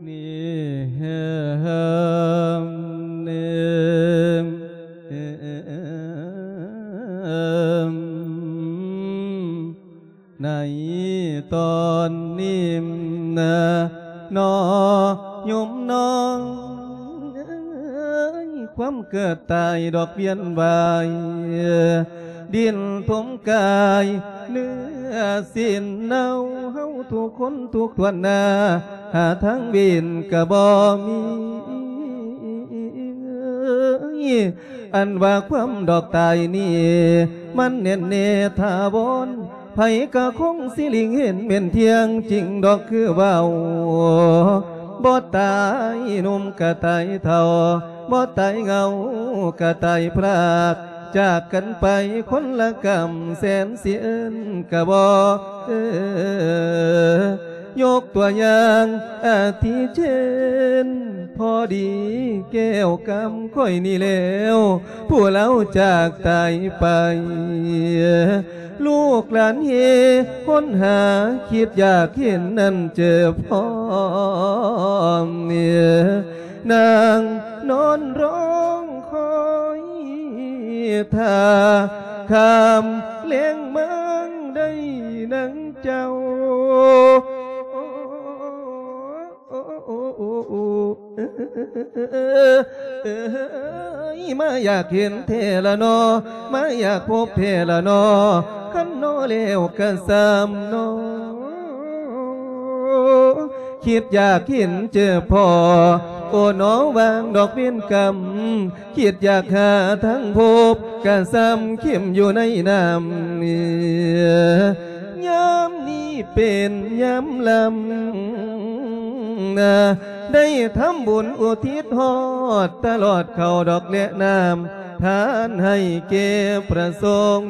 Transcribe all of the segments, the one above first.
ນີ້ເອີມ ນີ້ເອີມ ໃນຕອນນີ້ນະ ນ້ອຍໂຍມນ້ອງເອີຍ ຄວາມເກີດຕາຍດອກວຽນວາຍ ດິນຖົມກາຍເນື້ອຊີ້ນເນົ່າ ເຮົາທຸກຄົນທຸກຖ້ວນໜ້າ ຫາທາງເວັ້ນກະບໍ່ມີ ອັນວ່າຄວາມດອກຕາຍນີ້ ມັນແໜ້ນແນ່ຖາວອນ ໃຜກະຄົງຊິຫຼີກເຫັນແມ່ນທ່ຽງຈິງດອກຄືເວົ້າ ບໍ່ຕາຍໜຸ່ມກະຕາຍເຖົ້າ ບໍ່ຕາຍເຫງົາກະຕາຍພຣາກ ຈາກກັນໄປຄົນລະກຳ ແສນຊິເອີ້ນກະບໍ່ເອີ ຍົກຕົວຢ່າງອາທິເຊັ່ນ ພໍດີແກ້ວກຳຂ້ອຍນີ້ແລ້ວ ຜູ້ລາວຈາກຕາຍໄປ ລູກຫຼານເຮຄົ້ນຫາ ຄິດຢາກເຫັນນັ້ນເຈີພ້ອມ ນາງນອນຮ້ອງຄອຍຖ້າ ຄ່ຳແລງມາໄດ້ນາງເຈົ້າ ມາຢາກເຫັນແທ້ລະນໍ ມາຢາກພົບແທ້ລະນໍ ຄັນນໍແລ້ວກະຊ່ຳນໍ ຄິດຢາກເຫັນເຈີພໍ້ ໂອ ໜໍ ຫວ່າງດອກເວນກຳ ຄິດຢາກຫາທາງພົບ ກະຊ່ຳເຂັມຢູ່ໃນນ້ຳ ຍາມນີ້ເປັນຍາມລຳ ໄດ້ທຳບຸນອຸທິດຮອດ ຕະຫຼອດເຂົ້າດອກແລະນ້ຳ ທານໃຫ້ແກ່ພຣະສົງ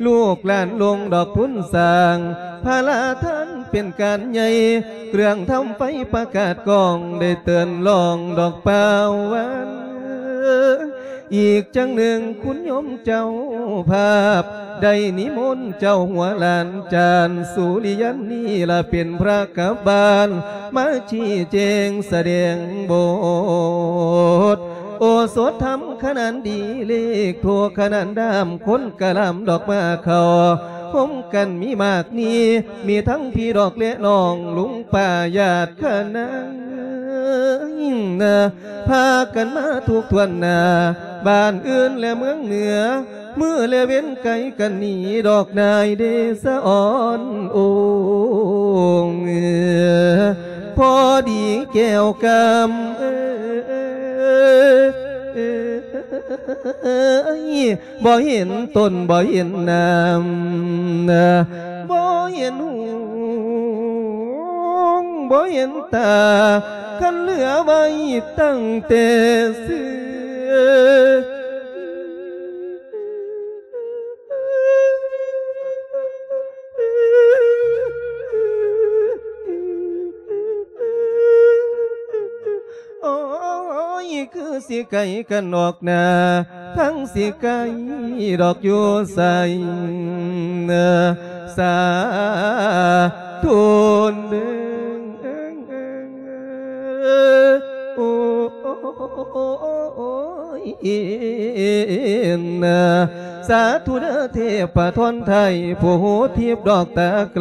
ລູກຫຼານລົງດອກທຶນສ້າງ ພາລາທານເປັນການໃຫຍ່ ເຄື່ອງທຳໄຟປະກາດກ້ອງ ໄດ້ເຕີນຮ້ອງດອກປ່າວຫວານ ອີກຈັ່ງໜຶ່ງຄຸນໂຍມເຈົ້າພາບ ໄດ້ນິມົນເຈົ້າຫົວຫຼານ ຈານສຸລິຍັນນີ້ລະເປັນພຣະກະບານ ມາຊີ້ແຈງສະແດງບົດ ໂອສົດທຳຂະໜານດີເລກ ທົ່ວຂະໜານດາມຄົນກະລຳດອກມາເຂົ້າ ພົມກັນມີມາກນີ້ ມີທັງພີ່ດອກແລະນ້ອງ ລຸງປ້າຍາດຂະນາ ພາກັນມາທຸກຖ້ວນໜ້າ ບ້ານອື່ນແລະເມືອງເໜືອ ມື້ແລະເວັນໄກກັນໜີ ດອກນາຍເດຊະອອນອົງ ພໍດີແກ້ວກຳເອີຍ ບໍ່ເຫັນຕົ້ນບໍ່ເຫັນນ້ຳ ບໍ່ເຫັນຫູບໍ່ເຫັນຕາ ຄັນເຫຼືອໄວ້ຕັ້ງແຕ່ເສືອ ໂອ້ຍ ຄືຊິໄກກັນອອກໜ້າ ທັງຊິໄກດອກຢູ່ໃສ ສາທຸເດີ ໂອ້ ສາທຸເດີເທບປະທອນໄທ ຜູ້ຮູ້ທິບດອກຕາໄກ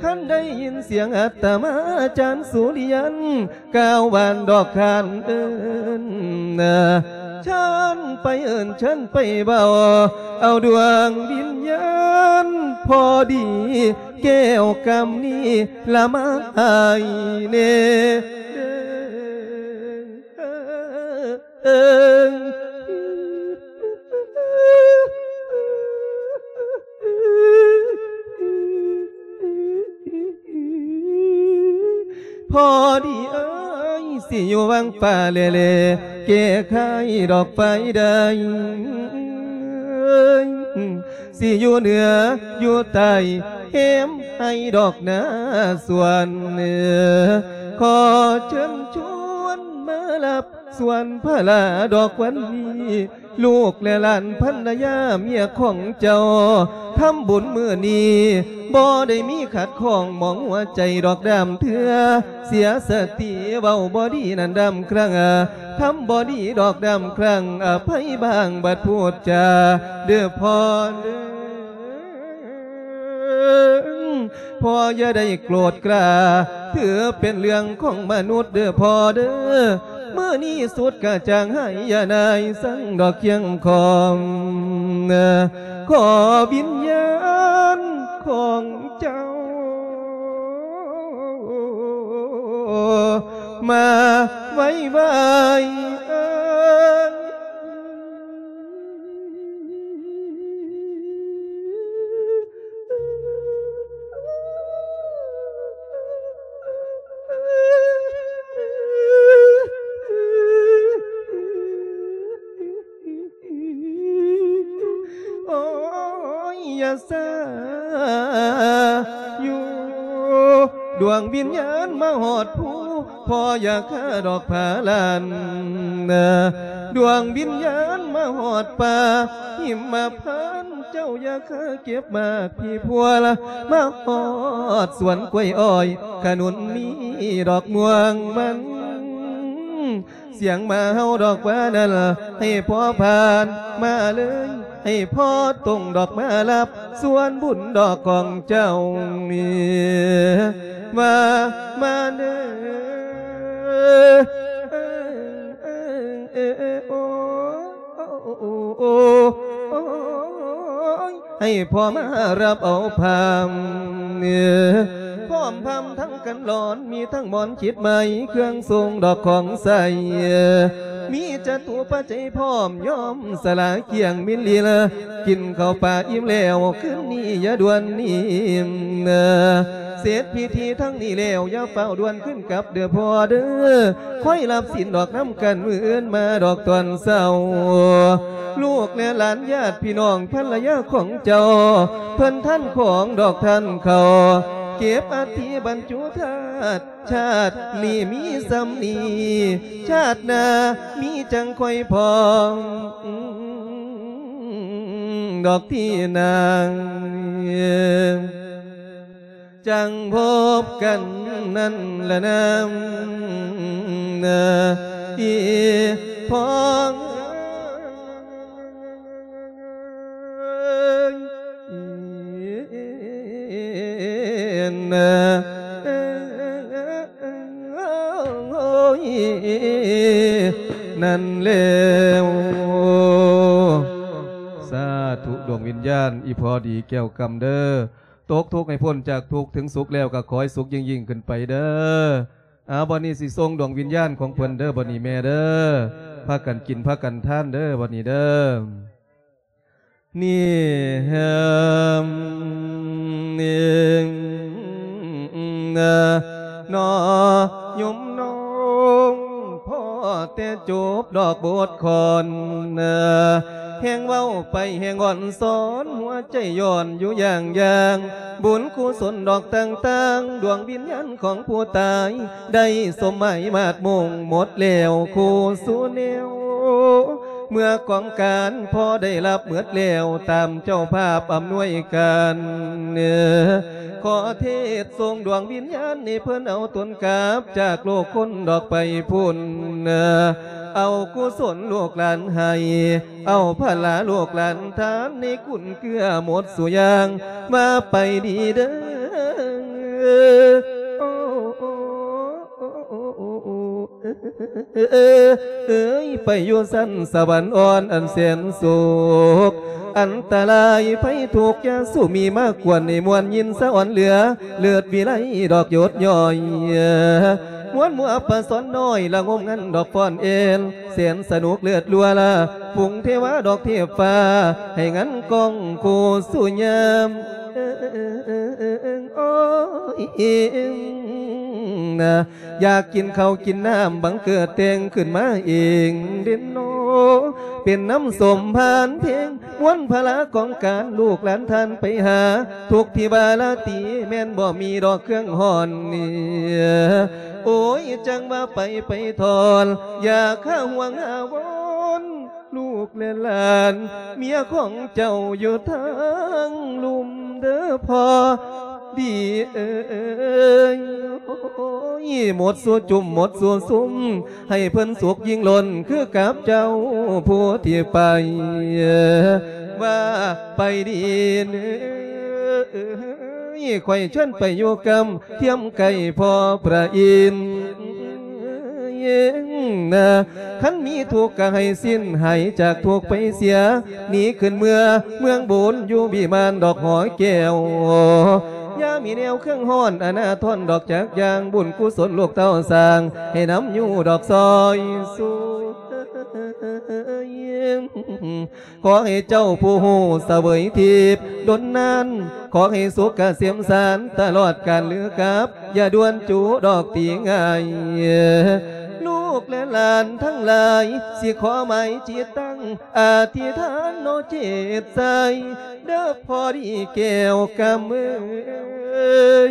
ຄັນໄດ້ຍິນສຽງອາດຕະມາ ອາຈານສຸລິຍັນ ກ່າວຫວານດອກຄານເອີ້ນ ເຊີນໄປເອີ້ນເຊີນໄປເວົ້າ ເອົາດວງວິນຍານ ພໍດີແກ້ວກຳນີ້ລະມາໃຫ້ແນ່ ເອີ ພໍດີເອີຍ ຊິຢູ່ວັງປ່າແລໆ ແກ້ໄຂດອກໄຟໄດ້ ຊິຢູ່ເໜືອຢູ່ໃຕ້ ແຮມໃຫ້ດອກນາສວນ ຂໍເຊີນຊວນມາຮັບ ສ່ວນພະລາດອກວັນນີ້ ລູກແລະຫຼານພັນລະຍາເມຍຂອງເຈົ້າ ທຳບຸນມື້ນີ້ ບໍ່ໄດ້ມີຂັດຂ້ອງໝອງຫົວໃຈດອກດາມເທື່ອ ເສຍສະຕິເວົ້າບໍ່ດີນັ້ນດາມຄັ້ງ ທຳບໍ່ດີດອກດາມຄັ້ງ ອະໄພບາງບັດພູດຈາ ເດີພໍ່ເດີ. ພໍ່ຢ່າໄດ້ໂກດກາ ຖືເປັນເລື່ອງຂອງມະນຸດເດີພໍ່ເດີ. ມື້ນີ້ສຸດກະຈາງໃຫ້ ຢ່ານາຍສັງດອກຄຽງຄອມ ຂໍວິນຍານຂອງເຈົ້າ ມາໄວໆ ເອີຍ. ໂອ້ຍ ຢ່າຊາຢູ່ ດວງວິນຍານມາຮອດພູ ພໍ່ຢ່າຄາດອກພາລານ ດວງວິນຍານມາຮອດປ່າຫິມມະພານ ເຈົ້າຢ່າຄາເກັບໝາກພີພົວລະ ມາຮອດສວນກ້ວຍອ້ອຍ ຂະໜຸນມີດອກມ່ວງມັນ ສຽງໝາເຫົ່າດອກວ່ານັ້ນ ໃຫ້ພໍ່ຜ່ານມາເລີຍ ໃຫ້ພໍ່ຕົງດອກມາຮັບ ສ່ວນບຸນດອກຂອງເຈົ້ານີ້ ວ່າມາເດີ ໂອ້ ໃຫ້ພໍ່ມາຮັບເອົາພາມ ພ້ອມພາມທັງກັນຫຼອນ ມີທັງໝອນຈິດໄໝ ເຄື່ອງຊົງດອກຂອງໃສ່ ມີຈະຕຸປັດໄຈພ້ອມ ຍອມສະຫຼາກຽງມິນລີລາ ກິນເຂົ້າປາອີ່ມແລ້ວ ຄືນນີ້ຢ່າດ່ວນໜີ ເສັດພິທີທັງນີ້ແລ້ວ ຢ່າຟ້າວດ່ວນຄືນກັບເດີພໍ່ເດີ ຄອຍຮັບສິນດອກນຳກັນ ມື້ອື່ນມາດອກຕອນເຊົ້າ ລູກແລະຫຼານຍາດພີ່ນ້ອງພັນລະຍາຂອງເຈົ້າ ເພິ່ນທ່ານຂອງດອກທ່ານເຂົາ ເກັບອັດຖິບັນຈຸທາດ ຊາດນີ້ມີສ່ຳນີ້ ຊາດໜ້າມີຈັ່ງຄ່ອຍພ້ອມ ດອກທີ່ນາງ ຈັ່ງພົບກັນນັ້ນລະນາ ອີ່ພໍ່ເອີຍ ນັ້ນແລ້ວ ສາທຸ ດວງວິນຍານອີ່ພໍ່ດີແກ້ວຄຳເດີ ຕົກທຸກໃຫ້ພົ້ນຈາກທຸກເຖິງສຸກແລ້ວ ກໍຂໍໃຫ້ສຸກຍິ່ງໆຂຶ້ນໄປເດີ. ອາ ບັດນີ້ຊິສົ່ງດວງວິນຍານຂອງເພິ່ນເດີ ບັດນີ້ແມ່ເດີ ພາກັນກິນພາກັນທານເດີ ບັດນີ້ເດີ. ນີ້ແຮມນີ້ນະ ນອ ໂຍມນ້ອງ ພໍແຕ່ຈົບດອກບົດຄອນ ແຮງເວົ້າໄປແຮງອ່ອນສອນ ຫົວໃຈຍ້ອນຢູ່ຢ່າງໆ ບຸນກຸສົນດອກຕ່າງໆ ດວງວິນຍານຂອງຜູ້ຕາຍ ໄດ້ສົມໝາຍມາດມຸ່ງໝົດແລ້ວຄູ່ສູ່ແນວ ເມື່ອກອງການພໍໄດ້ຮັບໝົດແລ້ວ ຕາມເຈົ້າພາບອຳນວຍການ ຂໍເທດສົ່ງດວງວິນຍານໃຫ້ເພິ່ນເອົາຕົນກັບຈາກໂລກຄົນດອກໄປພຸ້ນ ເອົາກຸສົນລູກຫຼານໃຫ້ ເອົາພະລາລູກຫຼານທານ ໃຫ້ກຸນເກື້ອໝົດສູ່ຢ່າງ ວ່າໄປດີເດີ ເອີຍ ໄປຢູ່ຊັ້ນສະຫວັນອ່ອນອັນແສນສຸກ ອັນຕະລາຍໄພທຸກຢ່າສູ່ມີມາກວນ ໃຫ້ມ່ວນຍິນສະອອນເຫຼືອ ເລີດວິໄລດອກຢົດຍ້ອຍ ມ່ວນມົວປະສອນນ້ອຍ ລະງົມງັນດອກຟ້ອນແອນ ແສນສະໜຸກເລີດລົວລະ ຝູງເທວາດອກເທບຟ້າ ໃຫ້ງັນກ້ອງຄູ່ສູ່ຍາມ ໂອ້ຍ ນະ ຢາກກິນເຂົ້າກິນນ້ຳ ບັງເກີດແຕ່ງຂຶ້ນມາເອງເດເນາະ. ເປັນນ້ຳສົ້ມຜ່ານເພງ ມວນພາລະຂອງການ ລູກຫຼານທ່ານໄປຫາ ທຸກທີ່ວ່າລາຕີ ແມ່ນບໍ່ມີດອກເຄື່ອງຮ້ອນນີ້ ໂອ້ຍ ຈັ່ງວ່າໄປ ໄປຖອນ ຢາກຫາຫ່ວງຫາວອນ ລູກແລະຫຼານ ເມຍຂອງເຈົ້າຢູ່ທາງລຸ່ມເດີພໍ່ດີເອີຍ ໂອ້ຍ ໝົດສູ່ຈຸ້ມ ໝົດສູ່ຊຸມ ໃຫ້ເພິ່ນສຸກຍິ່ງລົ້ນຄືກັບເຈົ້າຜູ້ທີ່ໄປ ວ່າໄປດີເອີຍ ຂ້ອຍເຊີນໄປຢູ່ກຳ ຄຽມໃກ້ພໍ່ພະອິນນະ ຄັນມີທຸກກະໃຫ້ສິ້ນ ຫາຍຈາກທຸກໄປເສຍ ໜີຂຶ້ນເມືອເມືອງບຸນ ຢູ່ວິມານດອກຫໍແກ້ວ ຢ່າມີແນວເຄື່ອງຮ້ອນ ອະນາທອນດອກຈັກຢ່າງ ບຸນກຸສົນລູກເຕົ້າສ້າງ ໃຫ້ນຳຢູ່ດອກຊອຍຊູ ຂໍໃຫ້ເຈົ້າຜູ້ຮູ້ສະເຫວີຍທິບດົນນານ ຂໍໃຫ້ສຸກກະເສມສານຕະຫຼອດການຫຼືກັບ ຢ່າດ່ວນຈູດອກຕີງ່າຍ ລູກແລະຫຼານທັງຫຼາຍ ຊິຂໍໝາຍຈິດຕັ້ງ ອະທິຖານເນາະເຈດໃສ ເດີພໍ່ດີແກ້ວກຳເອີຍ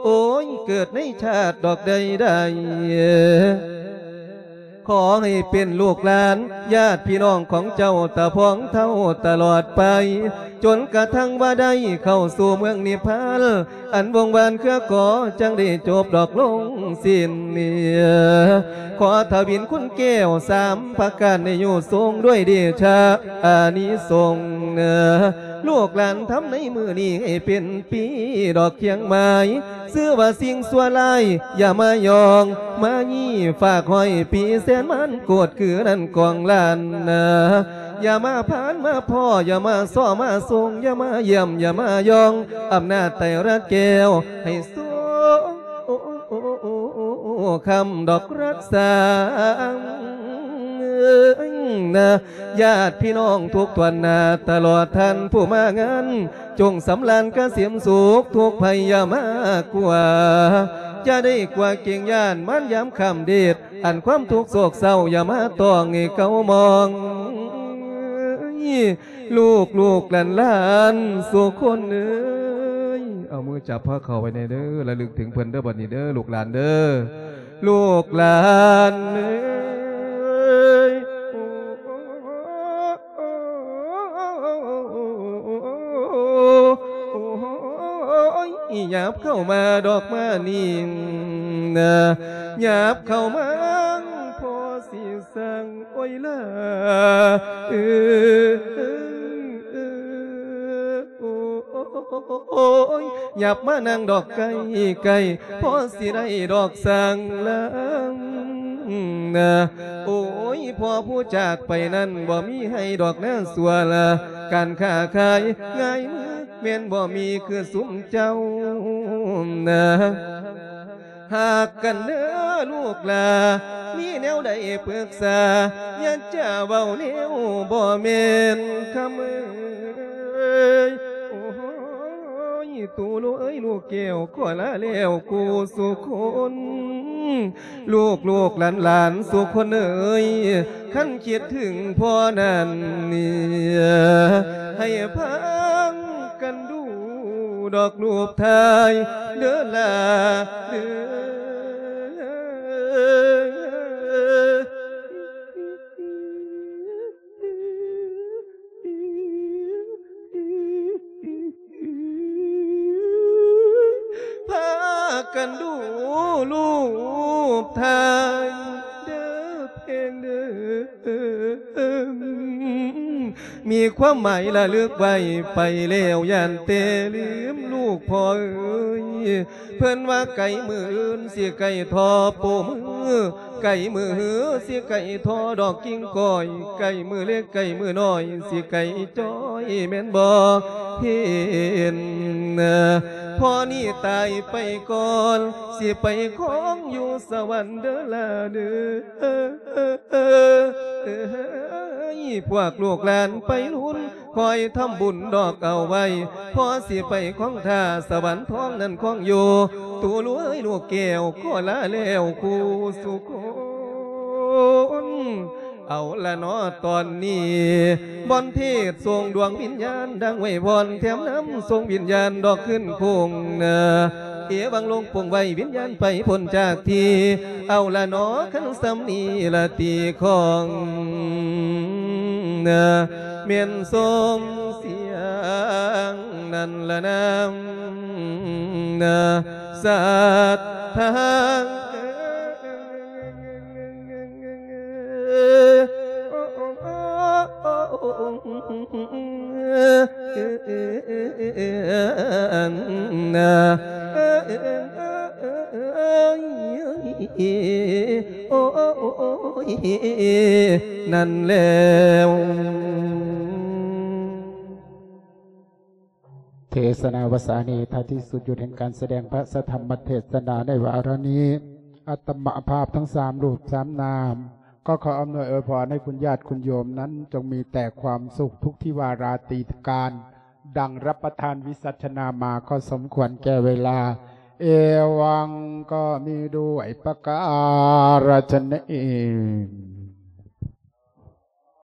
ໂອ້ຍ ເກີດໃນຊາດດອກໃດໃດ ຂໍໃຫ້ເປັນລູກຫຼານ ຍາດພີ່ນ້ອງຂອງເຈົ້າຕາພອງເທົ່າຕະຫຼອດໄປ ຈົນກະທັ່ງວ່າໄດ້ເຂົ້າສູ່ເມືອງນິບພານ ອັນວົງວານເຄືອກໍ ຈັ່ງໄດ້ຈົບດອກລົງສິ້ນ ຂໍທະວິນຄຸນແກ້ວສາມປະການ ໃຫ້ຢູ່ສົງດ້ວຍເດຊະອານິສົງ ລູກຫຼານທຳໃນມື້ນີ້ ໃຫ້ເປັນປີດອກຄຽງໝາຍ ຊື່ວ່າສິ່ງຊົ່ວຮ້າຍຢ່າມາຍ່ອງ ມາຍີ່ຝາກຫ້ອຍ ປີແສນມານໂກດຄືນັ້ນກອງລ້ານນາ ຢ່າມາຜ່ານມາພໍ້ ຢ່າມາຊໍມາສົ່ງ ຢ່າມາຢ້ຽມ ຢ່າມາຢອງ ອຳນາດໄຕຣະແກ້ວ ໃຫ້ສວງຄຳດອກຮັກສານາ ຍາດພີ່ນ້ອງທຸກຕວນໜ້າ ຕະຫຼອດທ່ານຜູ້ມາງານ ຈົ່ງສຳລານກະເສມສຸກ ທຸກໄພຢ່າມາກົວ ຢ່າໄດ້ກົວເກງຢ້ານ ມານຍາມຂ້າມເດດ ອັນຄວາມທຸກໂສກເສົ້າ ຢ່າມາຕ້ອງໃຫ້ເກົາໝອງ ລູກລູກຫຼານຫຼານສູ່ຄົນເອີຍ ເອົາມືຈັບພາເຂົາໄວ້ແດ່ເດີ ລະລຶກເຖິງເພິ່ນເດີ ບັດນີ້ເດີ ລູກຫຼານເດີ ລູກຫຼານເອີຍ ໂອ້ຍ ຫຍັບເຂົ້າມາດອກມານີ້ນະ ຫຍັບເຂົ້າມາ ພໍ່ຊິສັ່ງ ໂອ້ຍລາ ເອີ ໂອ້ຍ ຫຍັບມານັ່ງດອກໃກ້ໆ ພໍຊິໄດ້ດອກສ້າງລາງນາ ໂອ້ຍ ພໍ່ຜູ້ຈາກໄປນັ້ນ ບໍ່ມີໃຫ້ດອກນາຊົ່ວລະ ການຄ້າຂາຍງ່າຍມື ແມ່ນບໍ່ມີຄືຊຸມເຈົ້ານາ ຮັກກັນເດີລູກຫຼາ ມີແນວໃດປຶກສາ ຢ່າຈະເວົ້າແນວບໍ່ແມ່ນຄຳເອີຍ ໂອ້ຍ ຕູລູກເອີຍ ລູກແກ້ວ ຂໍລາແລ້ວຄູ່ສູ່ຄົນ ລູກລູກຫຼານຫຼານສູ່ຄົນເອີຍ ຄັນຄິດເຖິງພໍ່ນັ້ນນີ້ ໃຫ້ພາກັນດູດອກຮູບຖ່າຍເດີຫຼ້າເດີ ພາກັນດູຮູບຖ່າຍເດີເພງເດີ ມີຄວາມໝາຍລະລຶກໄວ້ ໄປແລ້ວຢ້ານແຕ່ລືມລູກພໍ່ເອີຍ ເພິ່ນວ່າໄກມື້ອື່ນຊິໄກທໍ່ໂປ້ມື ໄກມື້ຮືຊິໄກທໍ່ດອກກິ່ງກ້ອຍ ໄກມື້ເລັກໄກມື້ນ້ອຍຊິໄກຈ້ອຍແມ່ນບໍ່ເຫັນ ພໍ່ນີ້ຕາຍໄປກ່ອນ ຊິໄປຄອງຢູ່ສະຫວັນເດີລາເດີ. ພວກລູກຫຼານໄປລຸນ ຄອຍທຳບຸນດອກເອົາໄວ້ ພໍຊິໄປຄອງທ່າ ສະຫວັນທອງນັ້ນຄອງຢູ່ ຕູເອີຍລູກແກ້ວ ຂໍລາແລ້ວຄູ່ສູ່ຄົນ. ເອົາລະເນາະ ຕອນນີ້ ບ່ອນເທດສົ່ງດວງວິນຍານ ດັ່ງໄວວອນແຖມນຳ ສົ່ງວິນຍານດອກຄືນຄົງນາ ເອວັງລົງປົງໄວ້ ວິນຍານໄປພົ້ນຈາກທີ່ ເອົາລະເນາະ ຄັນສ່ຳນີ້ລະຕິຂອງນາ ແມ່ນສົມສຽງນັ້ນລະນາ ນາ ສັດທາ ນັ້ນແລ້ວ. ເທສະນາວະສານີ້ ທ້າຍທີ່ສຸດຢູ່ແຫ່ງການສະແດງພະສະທຳມະເທສະນາໃນວາລະນີ້ ອາດຕະມະພາບທັງສາມຮູບສາມນາມ ກໍຂໍອຳນວຍອວຍພອນໃຫ້ຄຸນຍາດຄຸນໂຍມນັ້ນ ຈົ່ງມີແຕ່ຄວາມສຸກທຸກທິວາລາຕີການ ດັ່ງຮັບປະທານວິສັດຊະນາມາ ກໍສົມຄວນແກ່ເວລາ ເອວັງກໍມີດ້ວຍປະກາລະຊະນີ້.